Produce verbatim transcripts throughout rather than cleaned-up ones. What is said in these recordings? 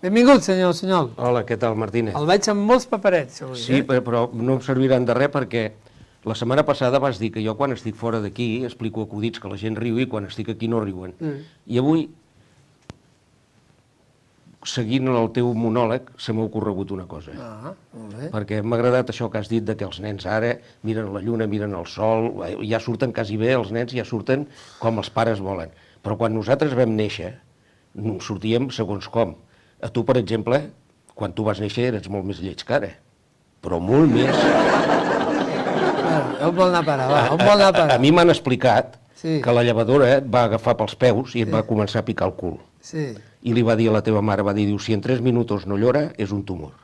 Benvingut, senyor Sunyol. Hola, què tal, Martínez? El veig amb molts paperets, avui. Sí, però no em serviran de res perquè la setmana passada vas dir que jo quan estic fora d'aquí explico acudits que la gent riu i quan estic aquí no riuen. I avui, seguint el teu monòleg, se m'ha ocorregut una cosa. Ah, molt bé. Perquè m'ha agradat això que has dit de que els nens ara miren la lluna, miren el sol, ja surten quasi bé, els nens ja surten com els pares volen. Però quan nosaltres vam néixer, sortíem segons com. A tu, per exemple, quan tu vas néixer eres molt més lleig que ara, però molt més. On vol anar a parar, va, on vol anar a parar? A mi m'han explicat que la llevadora et va agafar pels peus i et va començar a picar el cul. Sí. I li va dir a la teva mare, va dir, si en tres minuts no llora, és un tumor.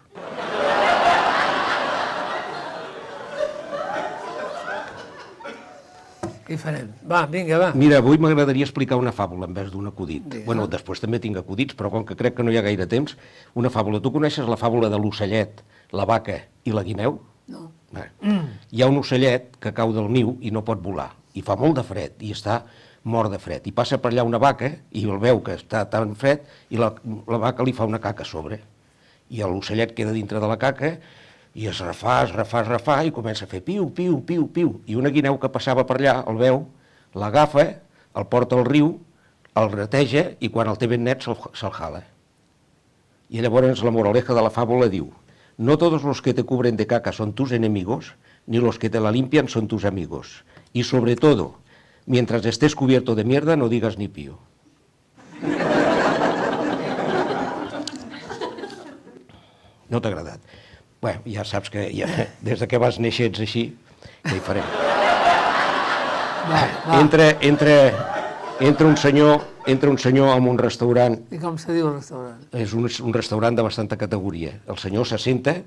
Què hi farem? Va, vinga, va. Mira, avui m'agradaria explicar una fàbula en vez d'un acudit. Bueno, després també tinc acudits, però com que crec que no hi ha gaire temps, una fàbula. Tu coneixes la fàbula de l'ocellet, la vaca i la guineu? No. Hi ha un ocellet que cau del niu i no pot volar, i fa molt de fred, i està mort de fred. I passa per allà una vaca, i el veu que està tan fred, i la, la vaca li fa una caca a sobre. I l'ocellet queda dintre de la caca, i es refà, es refà, es refà, i comença a fer piu, piu, piu, piu. I una guineu que passava per allà, el veu, l'agafa, el porta al riu, el reteja, i quan el té ben net se'l jala. I llavors la moraleja de la fàbula diu: no todos los que te cubren de caca son tus enemigos, ni los que te la limpian son tus amigos. Y sobre todo, mientras estés cubierto de mierda, no digas ni pío. No t'ha agradat? Bé, ja saps que ja, des que vas néixer ets així, què hi farem? Va, va. Entra, entra, entra un senyor, entra un senyor en un restaurant. I com se diu el restaurant? És un, un restaurant de bastanta categoria. El senyor se senta,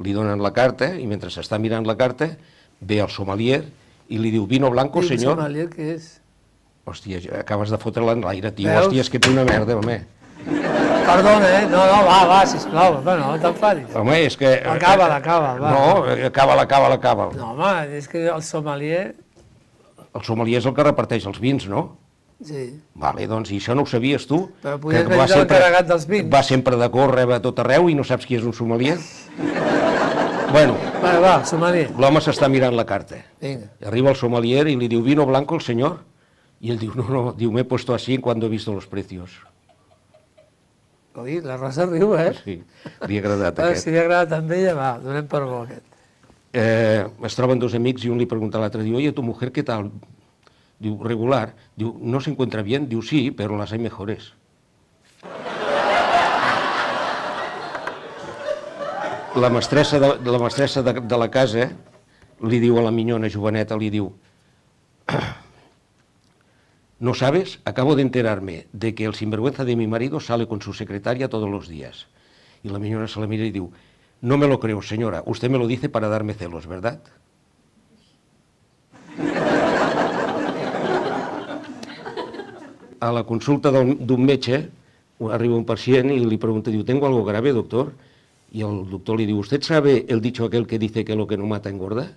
li donen la carta, i mentre s'està mirant la carta, ve el sommelier i li diu, vino blanco, senyor. El sommelier què és? Hòstia, acabes de fotre-la en l'aire, tio. Hòstia, és que ets una merda, home. Perdona, eh? No, no, va, va, sisplau. Bueno, no t'enfadis. Home, és que... Acaba-la, acaba, va. No, acaba-la, acaba-la, acaba-la. No, home, és que el sommelier... El sommelier és el que reparteix els vins, no? Sí. Vale, doncs, i això no ho sabies tu? Però podies haver dit l'encarregat dels vins. Va sempre de córrer a tot arreu i no saps qui és un sommelier? Bueno. Va, va, sommelier. L'home s'està mirant la carta. Vinga. Arriba el sommelier i li diu, vino blanco el senyor? I ell diu, no, no, diu, me he puesto así cuando he visto los precios. Oi, la Rosa riu, eh? Sí, li ha agradat aquest. aquest. Si li ha agradat amb ella, va, donem per bo aquest. Eh, es troben dos amics i un li pregunta a l'altre, diu, oye, tu mujer, ¿qué tal? Diu, regular. Diu, no se encuentra bien? Diu, sí, pero las hay mejores. La mestressa de la, mestressa de, de la casa li diu a la minyona joveneta, li diu, ¿no sabes? Acabo de enterarme de que el sinvergüenza de mi marido sale con su secretaria todos los días. Y la minyona se la mira y diu, no me lo creo, señora, usted me lo dice para darme celos, ¿verdad? A la consulta d'un metge arriba un pacient y le pregunta, diu, ¿tengo algo grave, doctor? Y el doctor le diu, ¿usted sabe el dicho aquel que dice que lo que no mata engorda?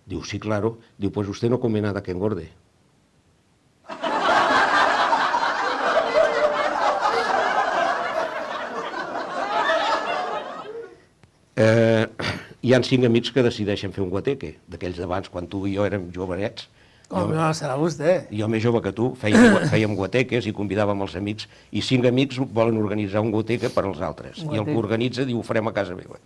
Diu, sí, claro. Diu, pues usted no come nada que engorde. Eh, hi ha cinc amics que decideixen fer un guateque, d'aquells d'abans, quan tu i jo érem jovenets. Com no, serà vostè. Jo més jove que tu, fèiem, fèiem guateques i convidàvem els amics, i cinc amics volen organitzar un guateque per als altres. I el que organitza diu, ho farem a casa meva.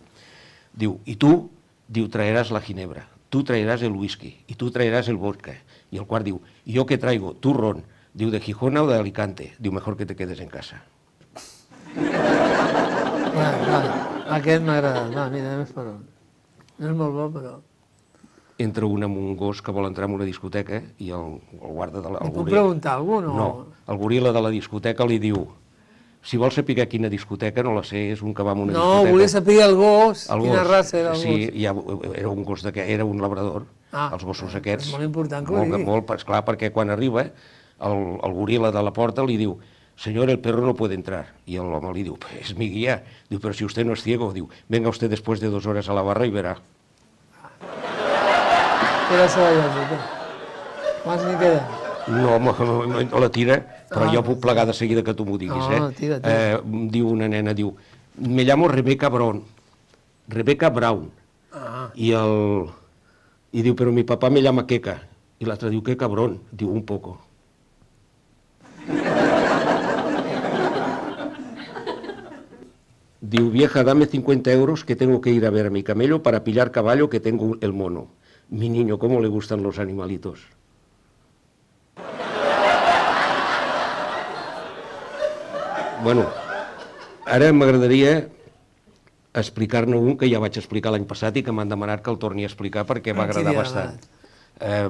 Diu, i tu, diu, traeràs la ginebra, tu traeràs el whisky, i tu traeràs el vodka. I el quart diu, ¿y yo qué traigo? Turrón. Diu, ¿de Gijona o de Alicante? Diu, mejor que te quedes en casa. Vale, vale. Aquest m'ha agradat. Va, mira, més per on. No és molt bo, però... Entra un amb un gos que vol entrar en una discoteca i el, el guarda de la... Li puc preguntar a algú, no? No, el goril·la de la discoteca li diu, si vols saber quina discoteca, no la sé, és un que va a una no, discoteca... No, volia saber el gos, el quina gos. raça era el sí, gos. Sí, ja, era un gos d'aquest, era un labrador, ah, els gossos aquests... És molt important que ho molt, digui. Molt, esclar, perquè quan arriba, el, el goril·la de la porta li diu, señor, el perro no puede entrar. Y el home li diu, es mi guía. Diu, pero si usted no es ciego. Diu, venga usted después de dos horas a la barra y verá. Queda la lògica. Quants n'hi queda? No, no la tira, però jo puc plegar de seguida que tu m'ho diguis. No, tira, tira. Diu una nena, diu, me llamo Rebecca Brown. Rebecca Brown. Ah. I, el, I diu, però mi papà me llama Queca. I l'altre diu, que cabrón. Diu, un poco. Diu, vieja, dame cincuenta euros que tengo que ir a ver a mi camello para pillar caballo que tengo el mono. Mi niño, ¿cómo le gustan los animalitos? Bueno, ara m'agradaria explicar-ne un que ja vaig explicar l'any passat i que m'han demanat que el torni a explicar perquè va agradar bastant. Eh,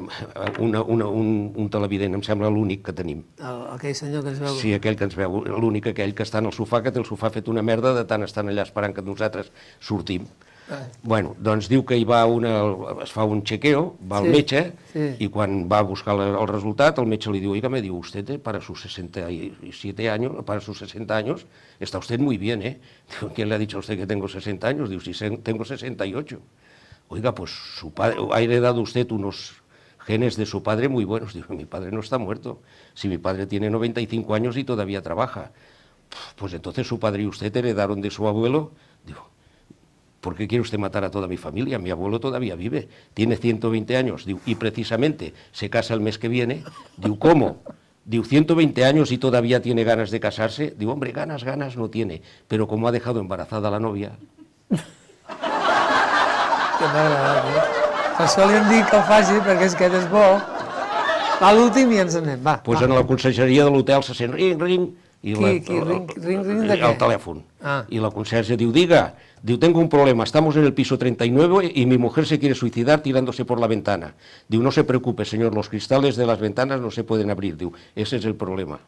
una, una, un, un televident, em sembla l'únic que tenim. El, aquell senyor que ens veu... Sí, aquell que ens veu, l'únic aquell que està en el sofà, que té el sofà fet una merda de tant estan allà esperant que nosaltres sortim. Ah. Bueno, doncs diu que hi va una, es fa un chequeo, va al Sí, metge, sí. i quan va a buscar el resultat, el metge li diu, oiga, me diu, usted para sus sesenta y siete años, para sus sesenta años, está usted muy bien, ¿eh? Digo, ¿quién le ha dicho a usted que tengo sesenta años? Digo, si tengo sesenta y ocho. Oiga, pues su padre, ha heredado usted unos genes de su padre muy buenos. Digo, mi padre no está muerto. Si mi padre tiene noventa y cinco años y todavía trabaja. Pues entonces su padre y usted heredaron de su abuelo. Digo, ¿por qué quiere usted matar a toda mi familia? Mi abuelo todavía vive, tiene ciento veinte años. Digo, y precisamente se casa el mes que viene. Digo, ¿cómo? Digo, ciento veinte años y todavía tiene ganas de casarse. Digo, hombre, ganas, ganas no tiene. Pero como ha dejado embarazada a la novia... Que m'ha agradat, eh? Per això li hem dit que ho faci, perquè és que és bo. Va, l'últim i ens anem, va. Pues va. en la consergeria de l'hotel se sent ring, ring, i Qui, la, qui, ring, ring, ring de què? el telèfon. Ah. Y la conserje diu, diga, diu, tengo un problema, estamos en el piso treinta y nueve y mi mujer se quiere suicidar tirándose por la ventana. Diu, no se preocupe, señor, los cristales de las ventanas no se pueden abrir. Diu, ese es el problema.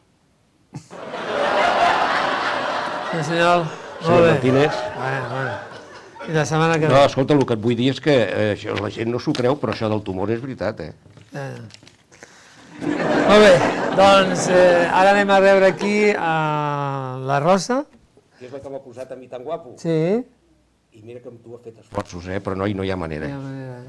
Sí, senyor, Senyor molt bé. Martínez. Bueno, bueno. I la setmana que No, ve. escolta, el que et vull dir és que eh, això, la gent no s'ho creu, però això del tumor és veritat, eh? Eh. Molt bé, doncs eh, ara anem a rebre aquí a la Rosa. Que és la que m'ha posat a mi tan guapo. Sí. I mira que amb tu ha fet esforços, eh? Però no, no hi ha manera. Ja, manera.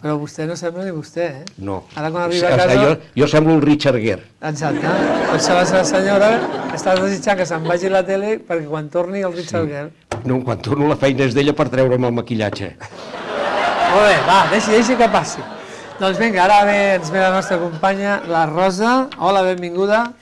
Però vostè no sembla ni vostè, eh? No. Ara quan O arriba a sigui, casa... jo, jo semblo el Richard Gere. Exacte. Per això la seva senyora està desitjant que se'n vagi a la tele perquè quan torni el Richard Gere... No, quan torno la feina és d'ella per treure'm el maquillatge. Molt bé, va, deixi, deixi que passi. Doncs vinga, ara ve, ens ve la nostra companya, la Rosa. Hola, benvinguda.